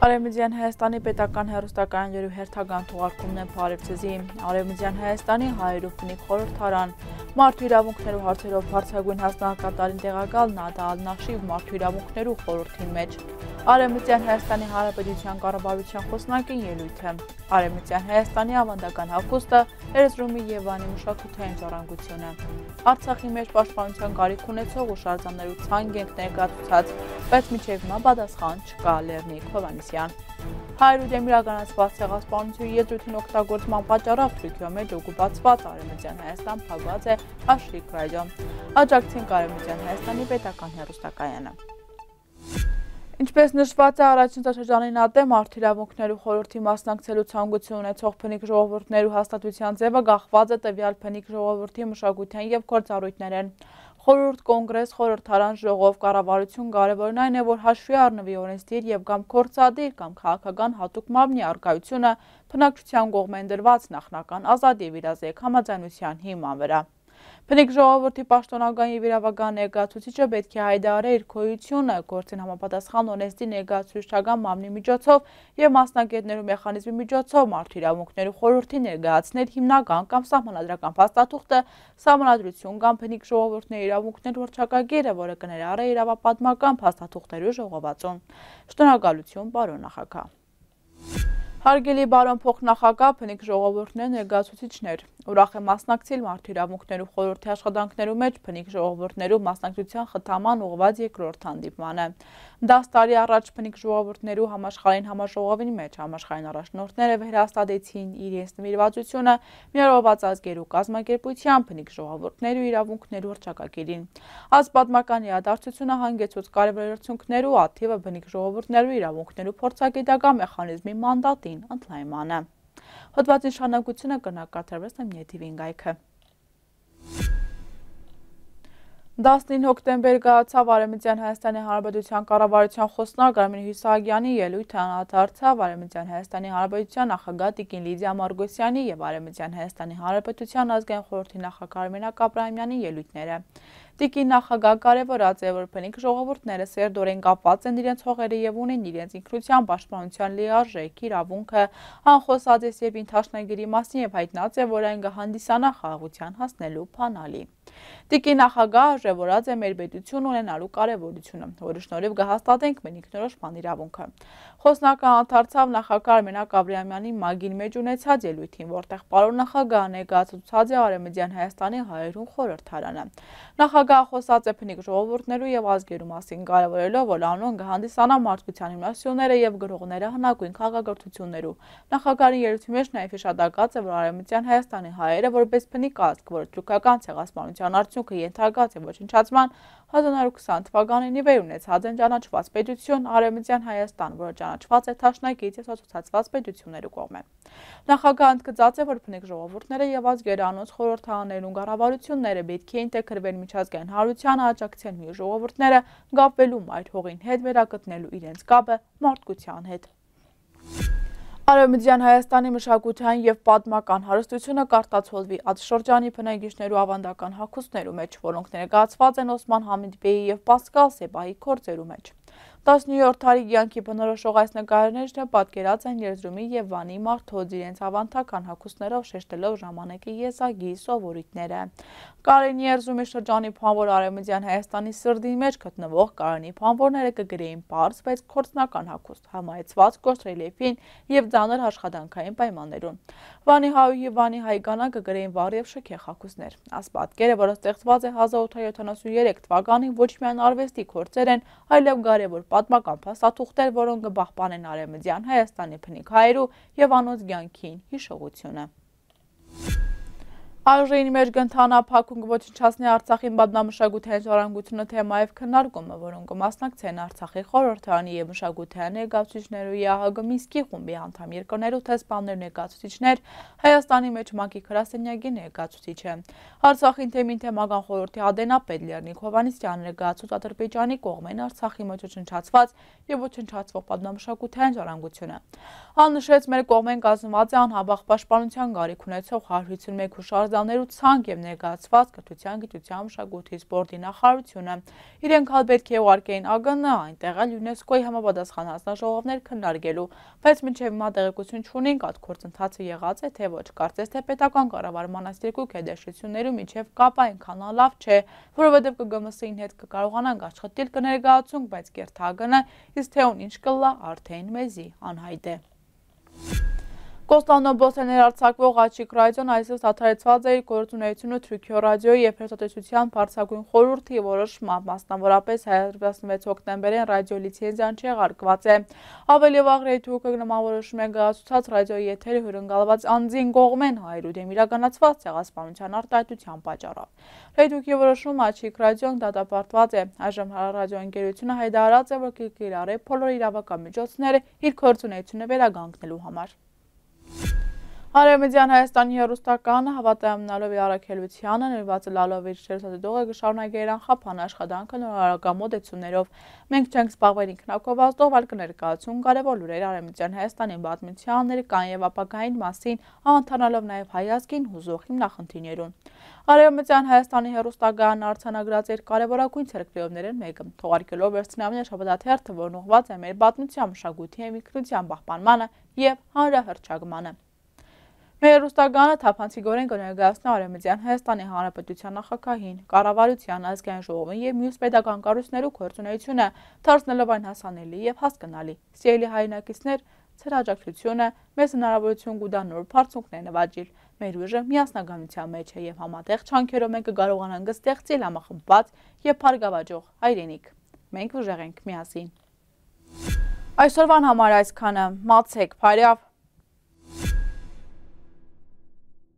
Արևմտյան Հայաստանի պետական հեռուստակայաններու հերթական թողարկումն է Փարեվցեզի, Արևմտյան Հայաստանի հայերու բնիկ խորհրդարան, մարդու իրավունքներու հարցերով բարձրագույն հասարակատարին տեղակալ Նադա Ալ-Նաշիվ մարդու իրավունքներու խորհրդի մեջ, Արևմտյան Հայաստանի Հանրապետության կառավարության խոսնակին ելույթ է, Արևմտյան Հայաստանի ավանդական հագուստը, Էրզրումի եւ Վանի մշակութային ժառանգությունը, Արցախի մեջ պաշտպանության կարիք ունեցող ու շարժաններու ցանկ ենք ներկայացուցած, բայց մինչև հիմա պատասխան չկա Լեռնիկ Հովհաննիսյան։ Հայերու դեմ իրականացված ցեղասպանության եզրույթին օգտագործման պատճառով Թուրքիա մեջ օկուպացված Արևմտյան Հայաստան փակված է Աշրիկ ռադիոն։ Աջակցին Արևմտյան Հայաստանի պետական հեռուստակայանը։ Ինչպես նշված է առաջին տարաշրջանին ատեմ մարդու իրավունքներու խորհրդի մասնակցելու ցանկություն ունեցող բնիկ ժողովուրդներու հաստատության ձևը գաղված է տվյալ բնիկ ժողովրդի մշակութային եւ գործառույթներեն։ Խորհուրդ, կոնգրես, խորհրդարան, ժողով, կառավարություն կարևորն այն է, որ հաշվի առնվի օրենսդիր եւ կամ գործադիր կամ քաղաքական հատուկ մամնի առկայությունը բնակչության կողմեն դրված նախնական ազատ եւ իրազեկ համաձայնության հիման վրա։ Բնիկ ժողովրդի պաշտոնական եւ իրավական ներկայացուցիչը պետք է հայտարարի իր գոյությունը գործին համապատասխան օրենսդիր ներկայացուցչական մամլի միջոցով եւ մասնագետներու մեխանիզմի միջոցով մարդու իրավունքներու խորհրդի ներկայացնել հիմնական կամ սահմանադրական փաստաթուղթը, սահմանադրություն կամ բնիկ ժողովուրդների իրավունքներու հռչակագիրը, որը կներառի իրավապատմական փաստաթուղթերու ժողովածուն։ Շնորհակալություն, պարոն նախագահ։ Հարգելի բարոն փոխնախագահ, բնիկ ժողովուրդներ, ներկայացուցիչներ, ուրախ եմ մասնակցել մարդու իրավունքներու խորհրդի աշխատանքներու մեջ բնիկ ժողովուրդներու մասնակցության խթանման ուղղված երկրորդ հանդիպմանը։ 10 տարի առաջ բնիկ ժողովուրդներու համաշխարհային համաժողովի մեջ համաշխարհային առաջնորդները վերահաստատեցին իրենց նվիրվածությունը միավորված ազգերու կազմակերպության բնիկ ժողովուրդներու իրավունքներու հռչակագիրին։ Այս պատմական իրադարձությունը հանգեցուց կարևոր արդյունքներու աթիվը բնիկ ժողովուրդներու իրավունքներու փորձագիտական մեխանիզմի մանդատին ընդլայնմանը։ Հոդվածի շարունակությունը կնակատարվեց նյութիվին գայքը։ 19 հոկտեմբեր գացավ Արևմտյան Հայաստանի Հանրապետության կառավարության խոսնակ Արմեն Հյուսագյանի ելույթը անդրադարձավ Արևմտյան Հայաստանի Հանրապետության նախագահ Տիկին Լիդիա Մարգոսյանի եւ Արևմտյան Հայաստանի Հանրապետության ազգային խորհրդի նախագահ Արմենակ Աբրահամյանի ելույթները։ Տիկին նախագահ կարևորած է, որ բնիկ ժողովուրդները սերտորեն կապված են իրենց հողերը եւ ունեն իրենց ինքնության պաշտպանության լիարժեք իրավունքը, անխոսած եւ ինքնաշնայգերի մասին եւ հայտնած է, որ այն կհանդիսանա խաղաղության հասնելու բանալի։ Տիկին նախագահ արժևորած է մեր պետություն ունենալու կարևորությունը, որի շնորհիվ կհաստատենք մեր ինքնորոշման իրավունքը։ Խոսնակը անդրադարձավ նախագահ Արմենակ Աբրահամյանի մագին մեջ ունեցած ելույթին, որտեղ պարոն նախագահը ներկայացուցած է Արևմտյան Հայաստանի հայերուն խորհրդարանը։ Նախագահը խոսած է բնիկ ժողովուրդներու եւ ազգերու մասին, կարևորելով, որ անոնք կհանդիսանա մարդկության հիմնասյուները եւ գրողները հնագույն քաղաքագործություններու։ Նախագահի ելույթի մեջ նաեւ հիշատակած է, որ Արևմտյան Հայաստանի հայերը որպես բնիկ ազգ, որ թուրքական ցեղասպանության արդյունքը ենթարկած է ոչնչացման 1920 թվականին ի վեր ունեցած են ճանաչված պետություն Արևմտյան Հայաստան, որը ճանաչված է թաշնակից եւ սոցիալացված պետություններու կողմեն։ Նախագահը ընդգծած է, որ բնիկ ժողովուրդները եւ ազգերը անոնց խորհրդարաններուն կառավարությունները պետք է ինտեգրվեն միջազգային հանրությանը, աջակցեն մի ժողովուրդները կապվելու այդ հողին հետ վերակտնելու իրենց կապը մարդկության հետ։ Արևմտյան Հայաստանի մշակութային եւ պատմական հարստությունը կարտացոլվի այդ շրջանի բնակիչներու ավանդական հագուստներու մեջ, որոնք ներկայացված են Օսման Համիդբեի եւ Պասկալ Սեբայի գործերու մեջ։ 17-րդ դարի կյանքի բնորոշող այս նկարներն պատկերած են Էրզրումի եւ Վանի մարդոց իրենց ավանդական հագուստներով շեշտելով ժամանակի եզակի սովորույթները։ Կարենի Էրզրումի շրջանի փանվոր Արևմտյան Հայաստանի սրդի մեջ գտնվող Կարենի փանվորները կգրեին բարձ, բայց կորցնական հագուստ, համայցված կոշտ ռելիեֆին եւ ծանր աշխատանքային պայմաններուն։ Վանի հայու եւ Վանի հայկանը կգրեին վառ եւ շքեղ հագուստներ։ Այս պատկերը, որը ստեղծված է 1873 թվականին, ոչ միայն արվեստի գործեր են, այլև կարևոր պատմական փաստաթուղթեր, որոնք կպահպանեն Արևմտյան Հայաստանի բնիկ հայերու եւ անոնց կյանքին հիշողությունը։ Այժմ մեր կընթանա փակուն կոչնչացնի Արցախին պատմամշակութային ժառանգությունը թեմայով քննարկումը, որոնք կմասնակցեն Արցախի խորհրդարանի եւ մշակութային ներկայացուցիչներու ԵԱՀԳ Մինսկի խումբի անդամ երկրներու տեսփաններ ներկայացուցիչներ, Հայաստանի մեջ ՄԱԿ-ի գրասենյակի ներկայացուցիչը, Արցախին թեմին թեմական խորհրդի ադենապետ Լեռնիկ Հովհաննիսյանը ներկայացուց Ադրբեջանի կողմեն Արցախի մեջ ոչնչացված եւ ոչնչացվող պատմամշակութային ժառանգությունը։ Աննշեց մեր կողմեն կազմված է անհաբախ պաշտպանության գարիք ունեցող 151 հուշարձան սկզբնագծներ ու ցանկ եւ ներկայացված կրթության, գիտության, մշակույթի, սպորտի նախարարությունը։ Իրենք հալ պետք է ուղարկեին ԱԳՆ, այնտեղ էլ ՅՈՒՆԵՍԿՕ-ի համապատասխան հանձնաժողովներ քննարկելու, բայց մինչև հիմա տեղեկություն չունենք այդ գործընթացը եղած է թե ոչ։ Կարծես թե պետական կառավարման այս երկու գերտերություններում մինչև կապ այնքան լավ չէ, որովհետև ԿԳՄՍ-ին հետ կկարողանանք աշխատել կներկայացունք, բայց կերտ ԱԳՆ, իսկ թե ուն ինչ կլա արդեն մեզի անհայտ է։ Կոստանդնուբոս է ներարձակվող Աջիկ ռադիոն այսօր դադարեցված է իր գործունեությունը Թուրքիո ռադիոյի և հեռուստատեսության բարձրագույն խորհրդի որոշմամբ, մասնավորապես 16 հոկտեմբերին ռադիո լիցենզիան չեղարկված է։ Ավելի վաղ Ռեյթուկը նման որոշում է կայացուցած ռադիոյի եթերը հյուրընկալված անձին կողմեն հայերու դեմ իրականացված ցեղասպանության արտահայտության պատճառով։ Ռեյթուկի որոշումը Աջիկ ռադիոն դատապարտված է։ Այժմ ռադիոընկերությունը հայտարարած է, որ կիրառի բոլոր իրավական միջոցները իր գործունեությունը վերականգնելու համար։ Արևմտյան Հայաստանի հեռուստականը հավատարիմ մնալով իր առաքելությանը, նվիրված լալով իր հեռուստադիտողը կշարունակի իր անխափան աշխատանքը նորարարական մոտեցումներով։ Մենք չենք զբաղվել ինքնակովածով, այլ կներկայացում կարևոր լուրեր Արևմտյան Հայաստանի պատմության, ներկան և ապագային մասին, անդանալով նաև հայ ազգին հուզող հիմնախնդիրներուն։ Արևմտյան Հայաստանի հեռուստականը արձանագրած իր կարևորագույն ցերեկրիովներն մեկը, թողարկելով վերջնամյա շաբաթաթերթը, որն ուղղված է մեր պատմության, մշակույթի և ինքնության պահպանմանը և հանրահռչակմանը։ Մեր հեռուստականը թափանցիկորեն կներկայացնի Արևմտյան Հայաստանի Հանրապետության նախագահին, կառավարության, ազգային ժողովին և մյուս պետական կառույցներու գործունեությունը, դարձնելով այն հասանելի և հասկանալի։ Սիրելի հայրենակիցներ, ձեր աջակցությունը մեզ հնարավորություն կտա նոր բարձունքներ նվաճել։ Մեր ուժը միասնականության մեջ է և համատեղ չանքերով մենք կկարողանանք ստեղծել համախմբված և փառգավաճող հայրենիք։ Մենք ուժեղ ենք միասին։ Այսօրվան համար այսքանը, մացեք, փարյավ։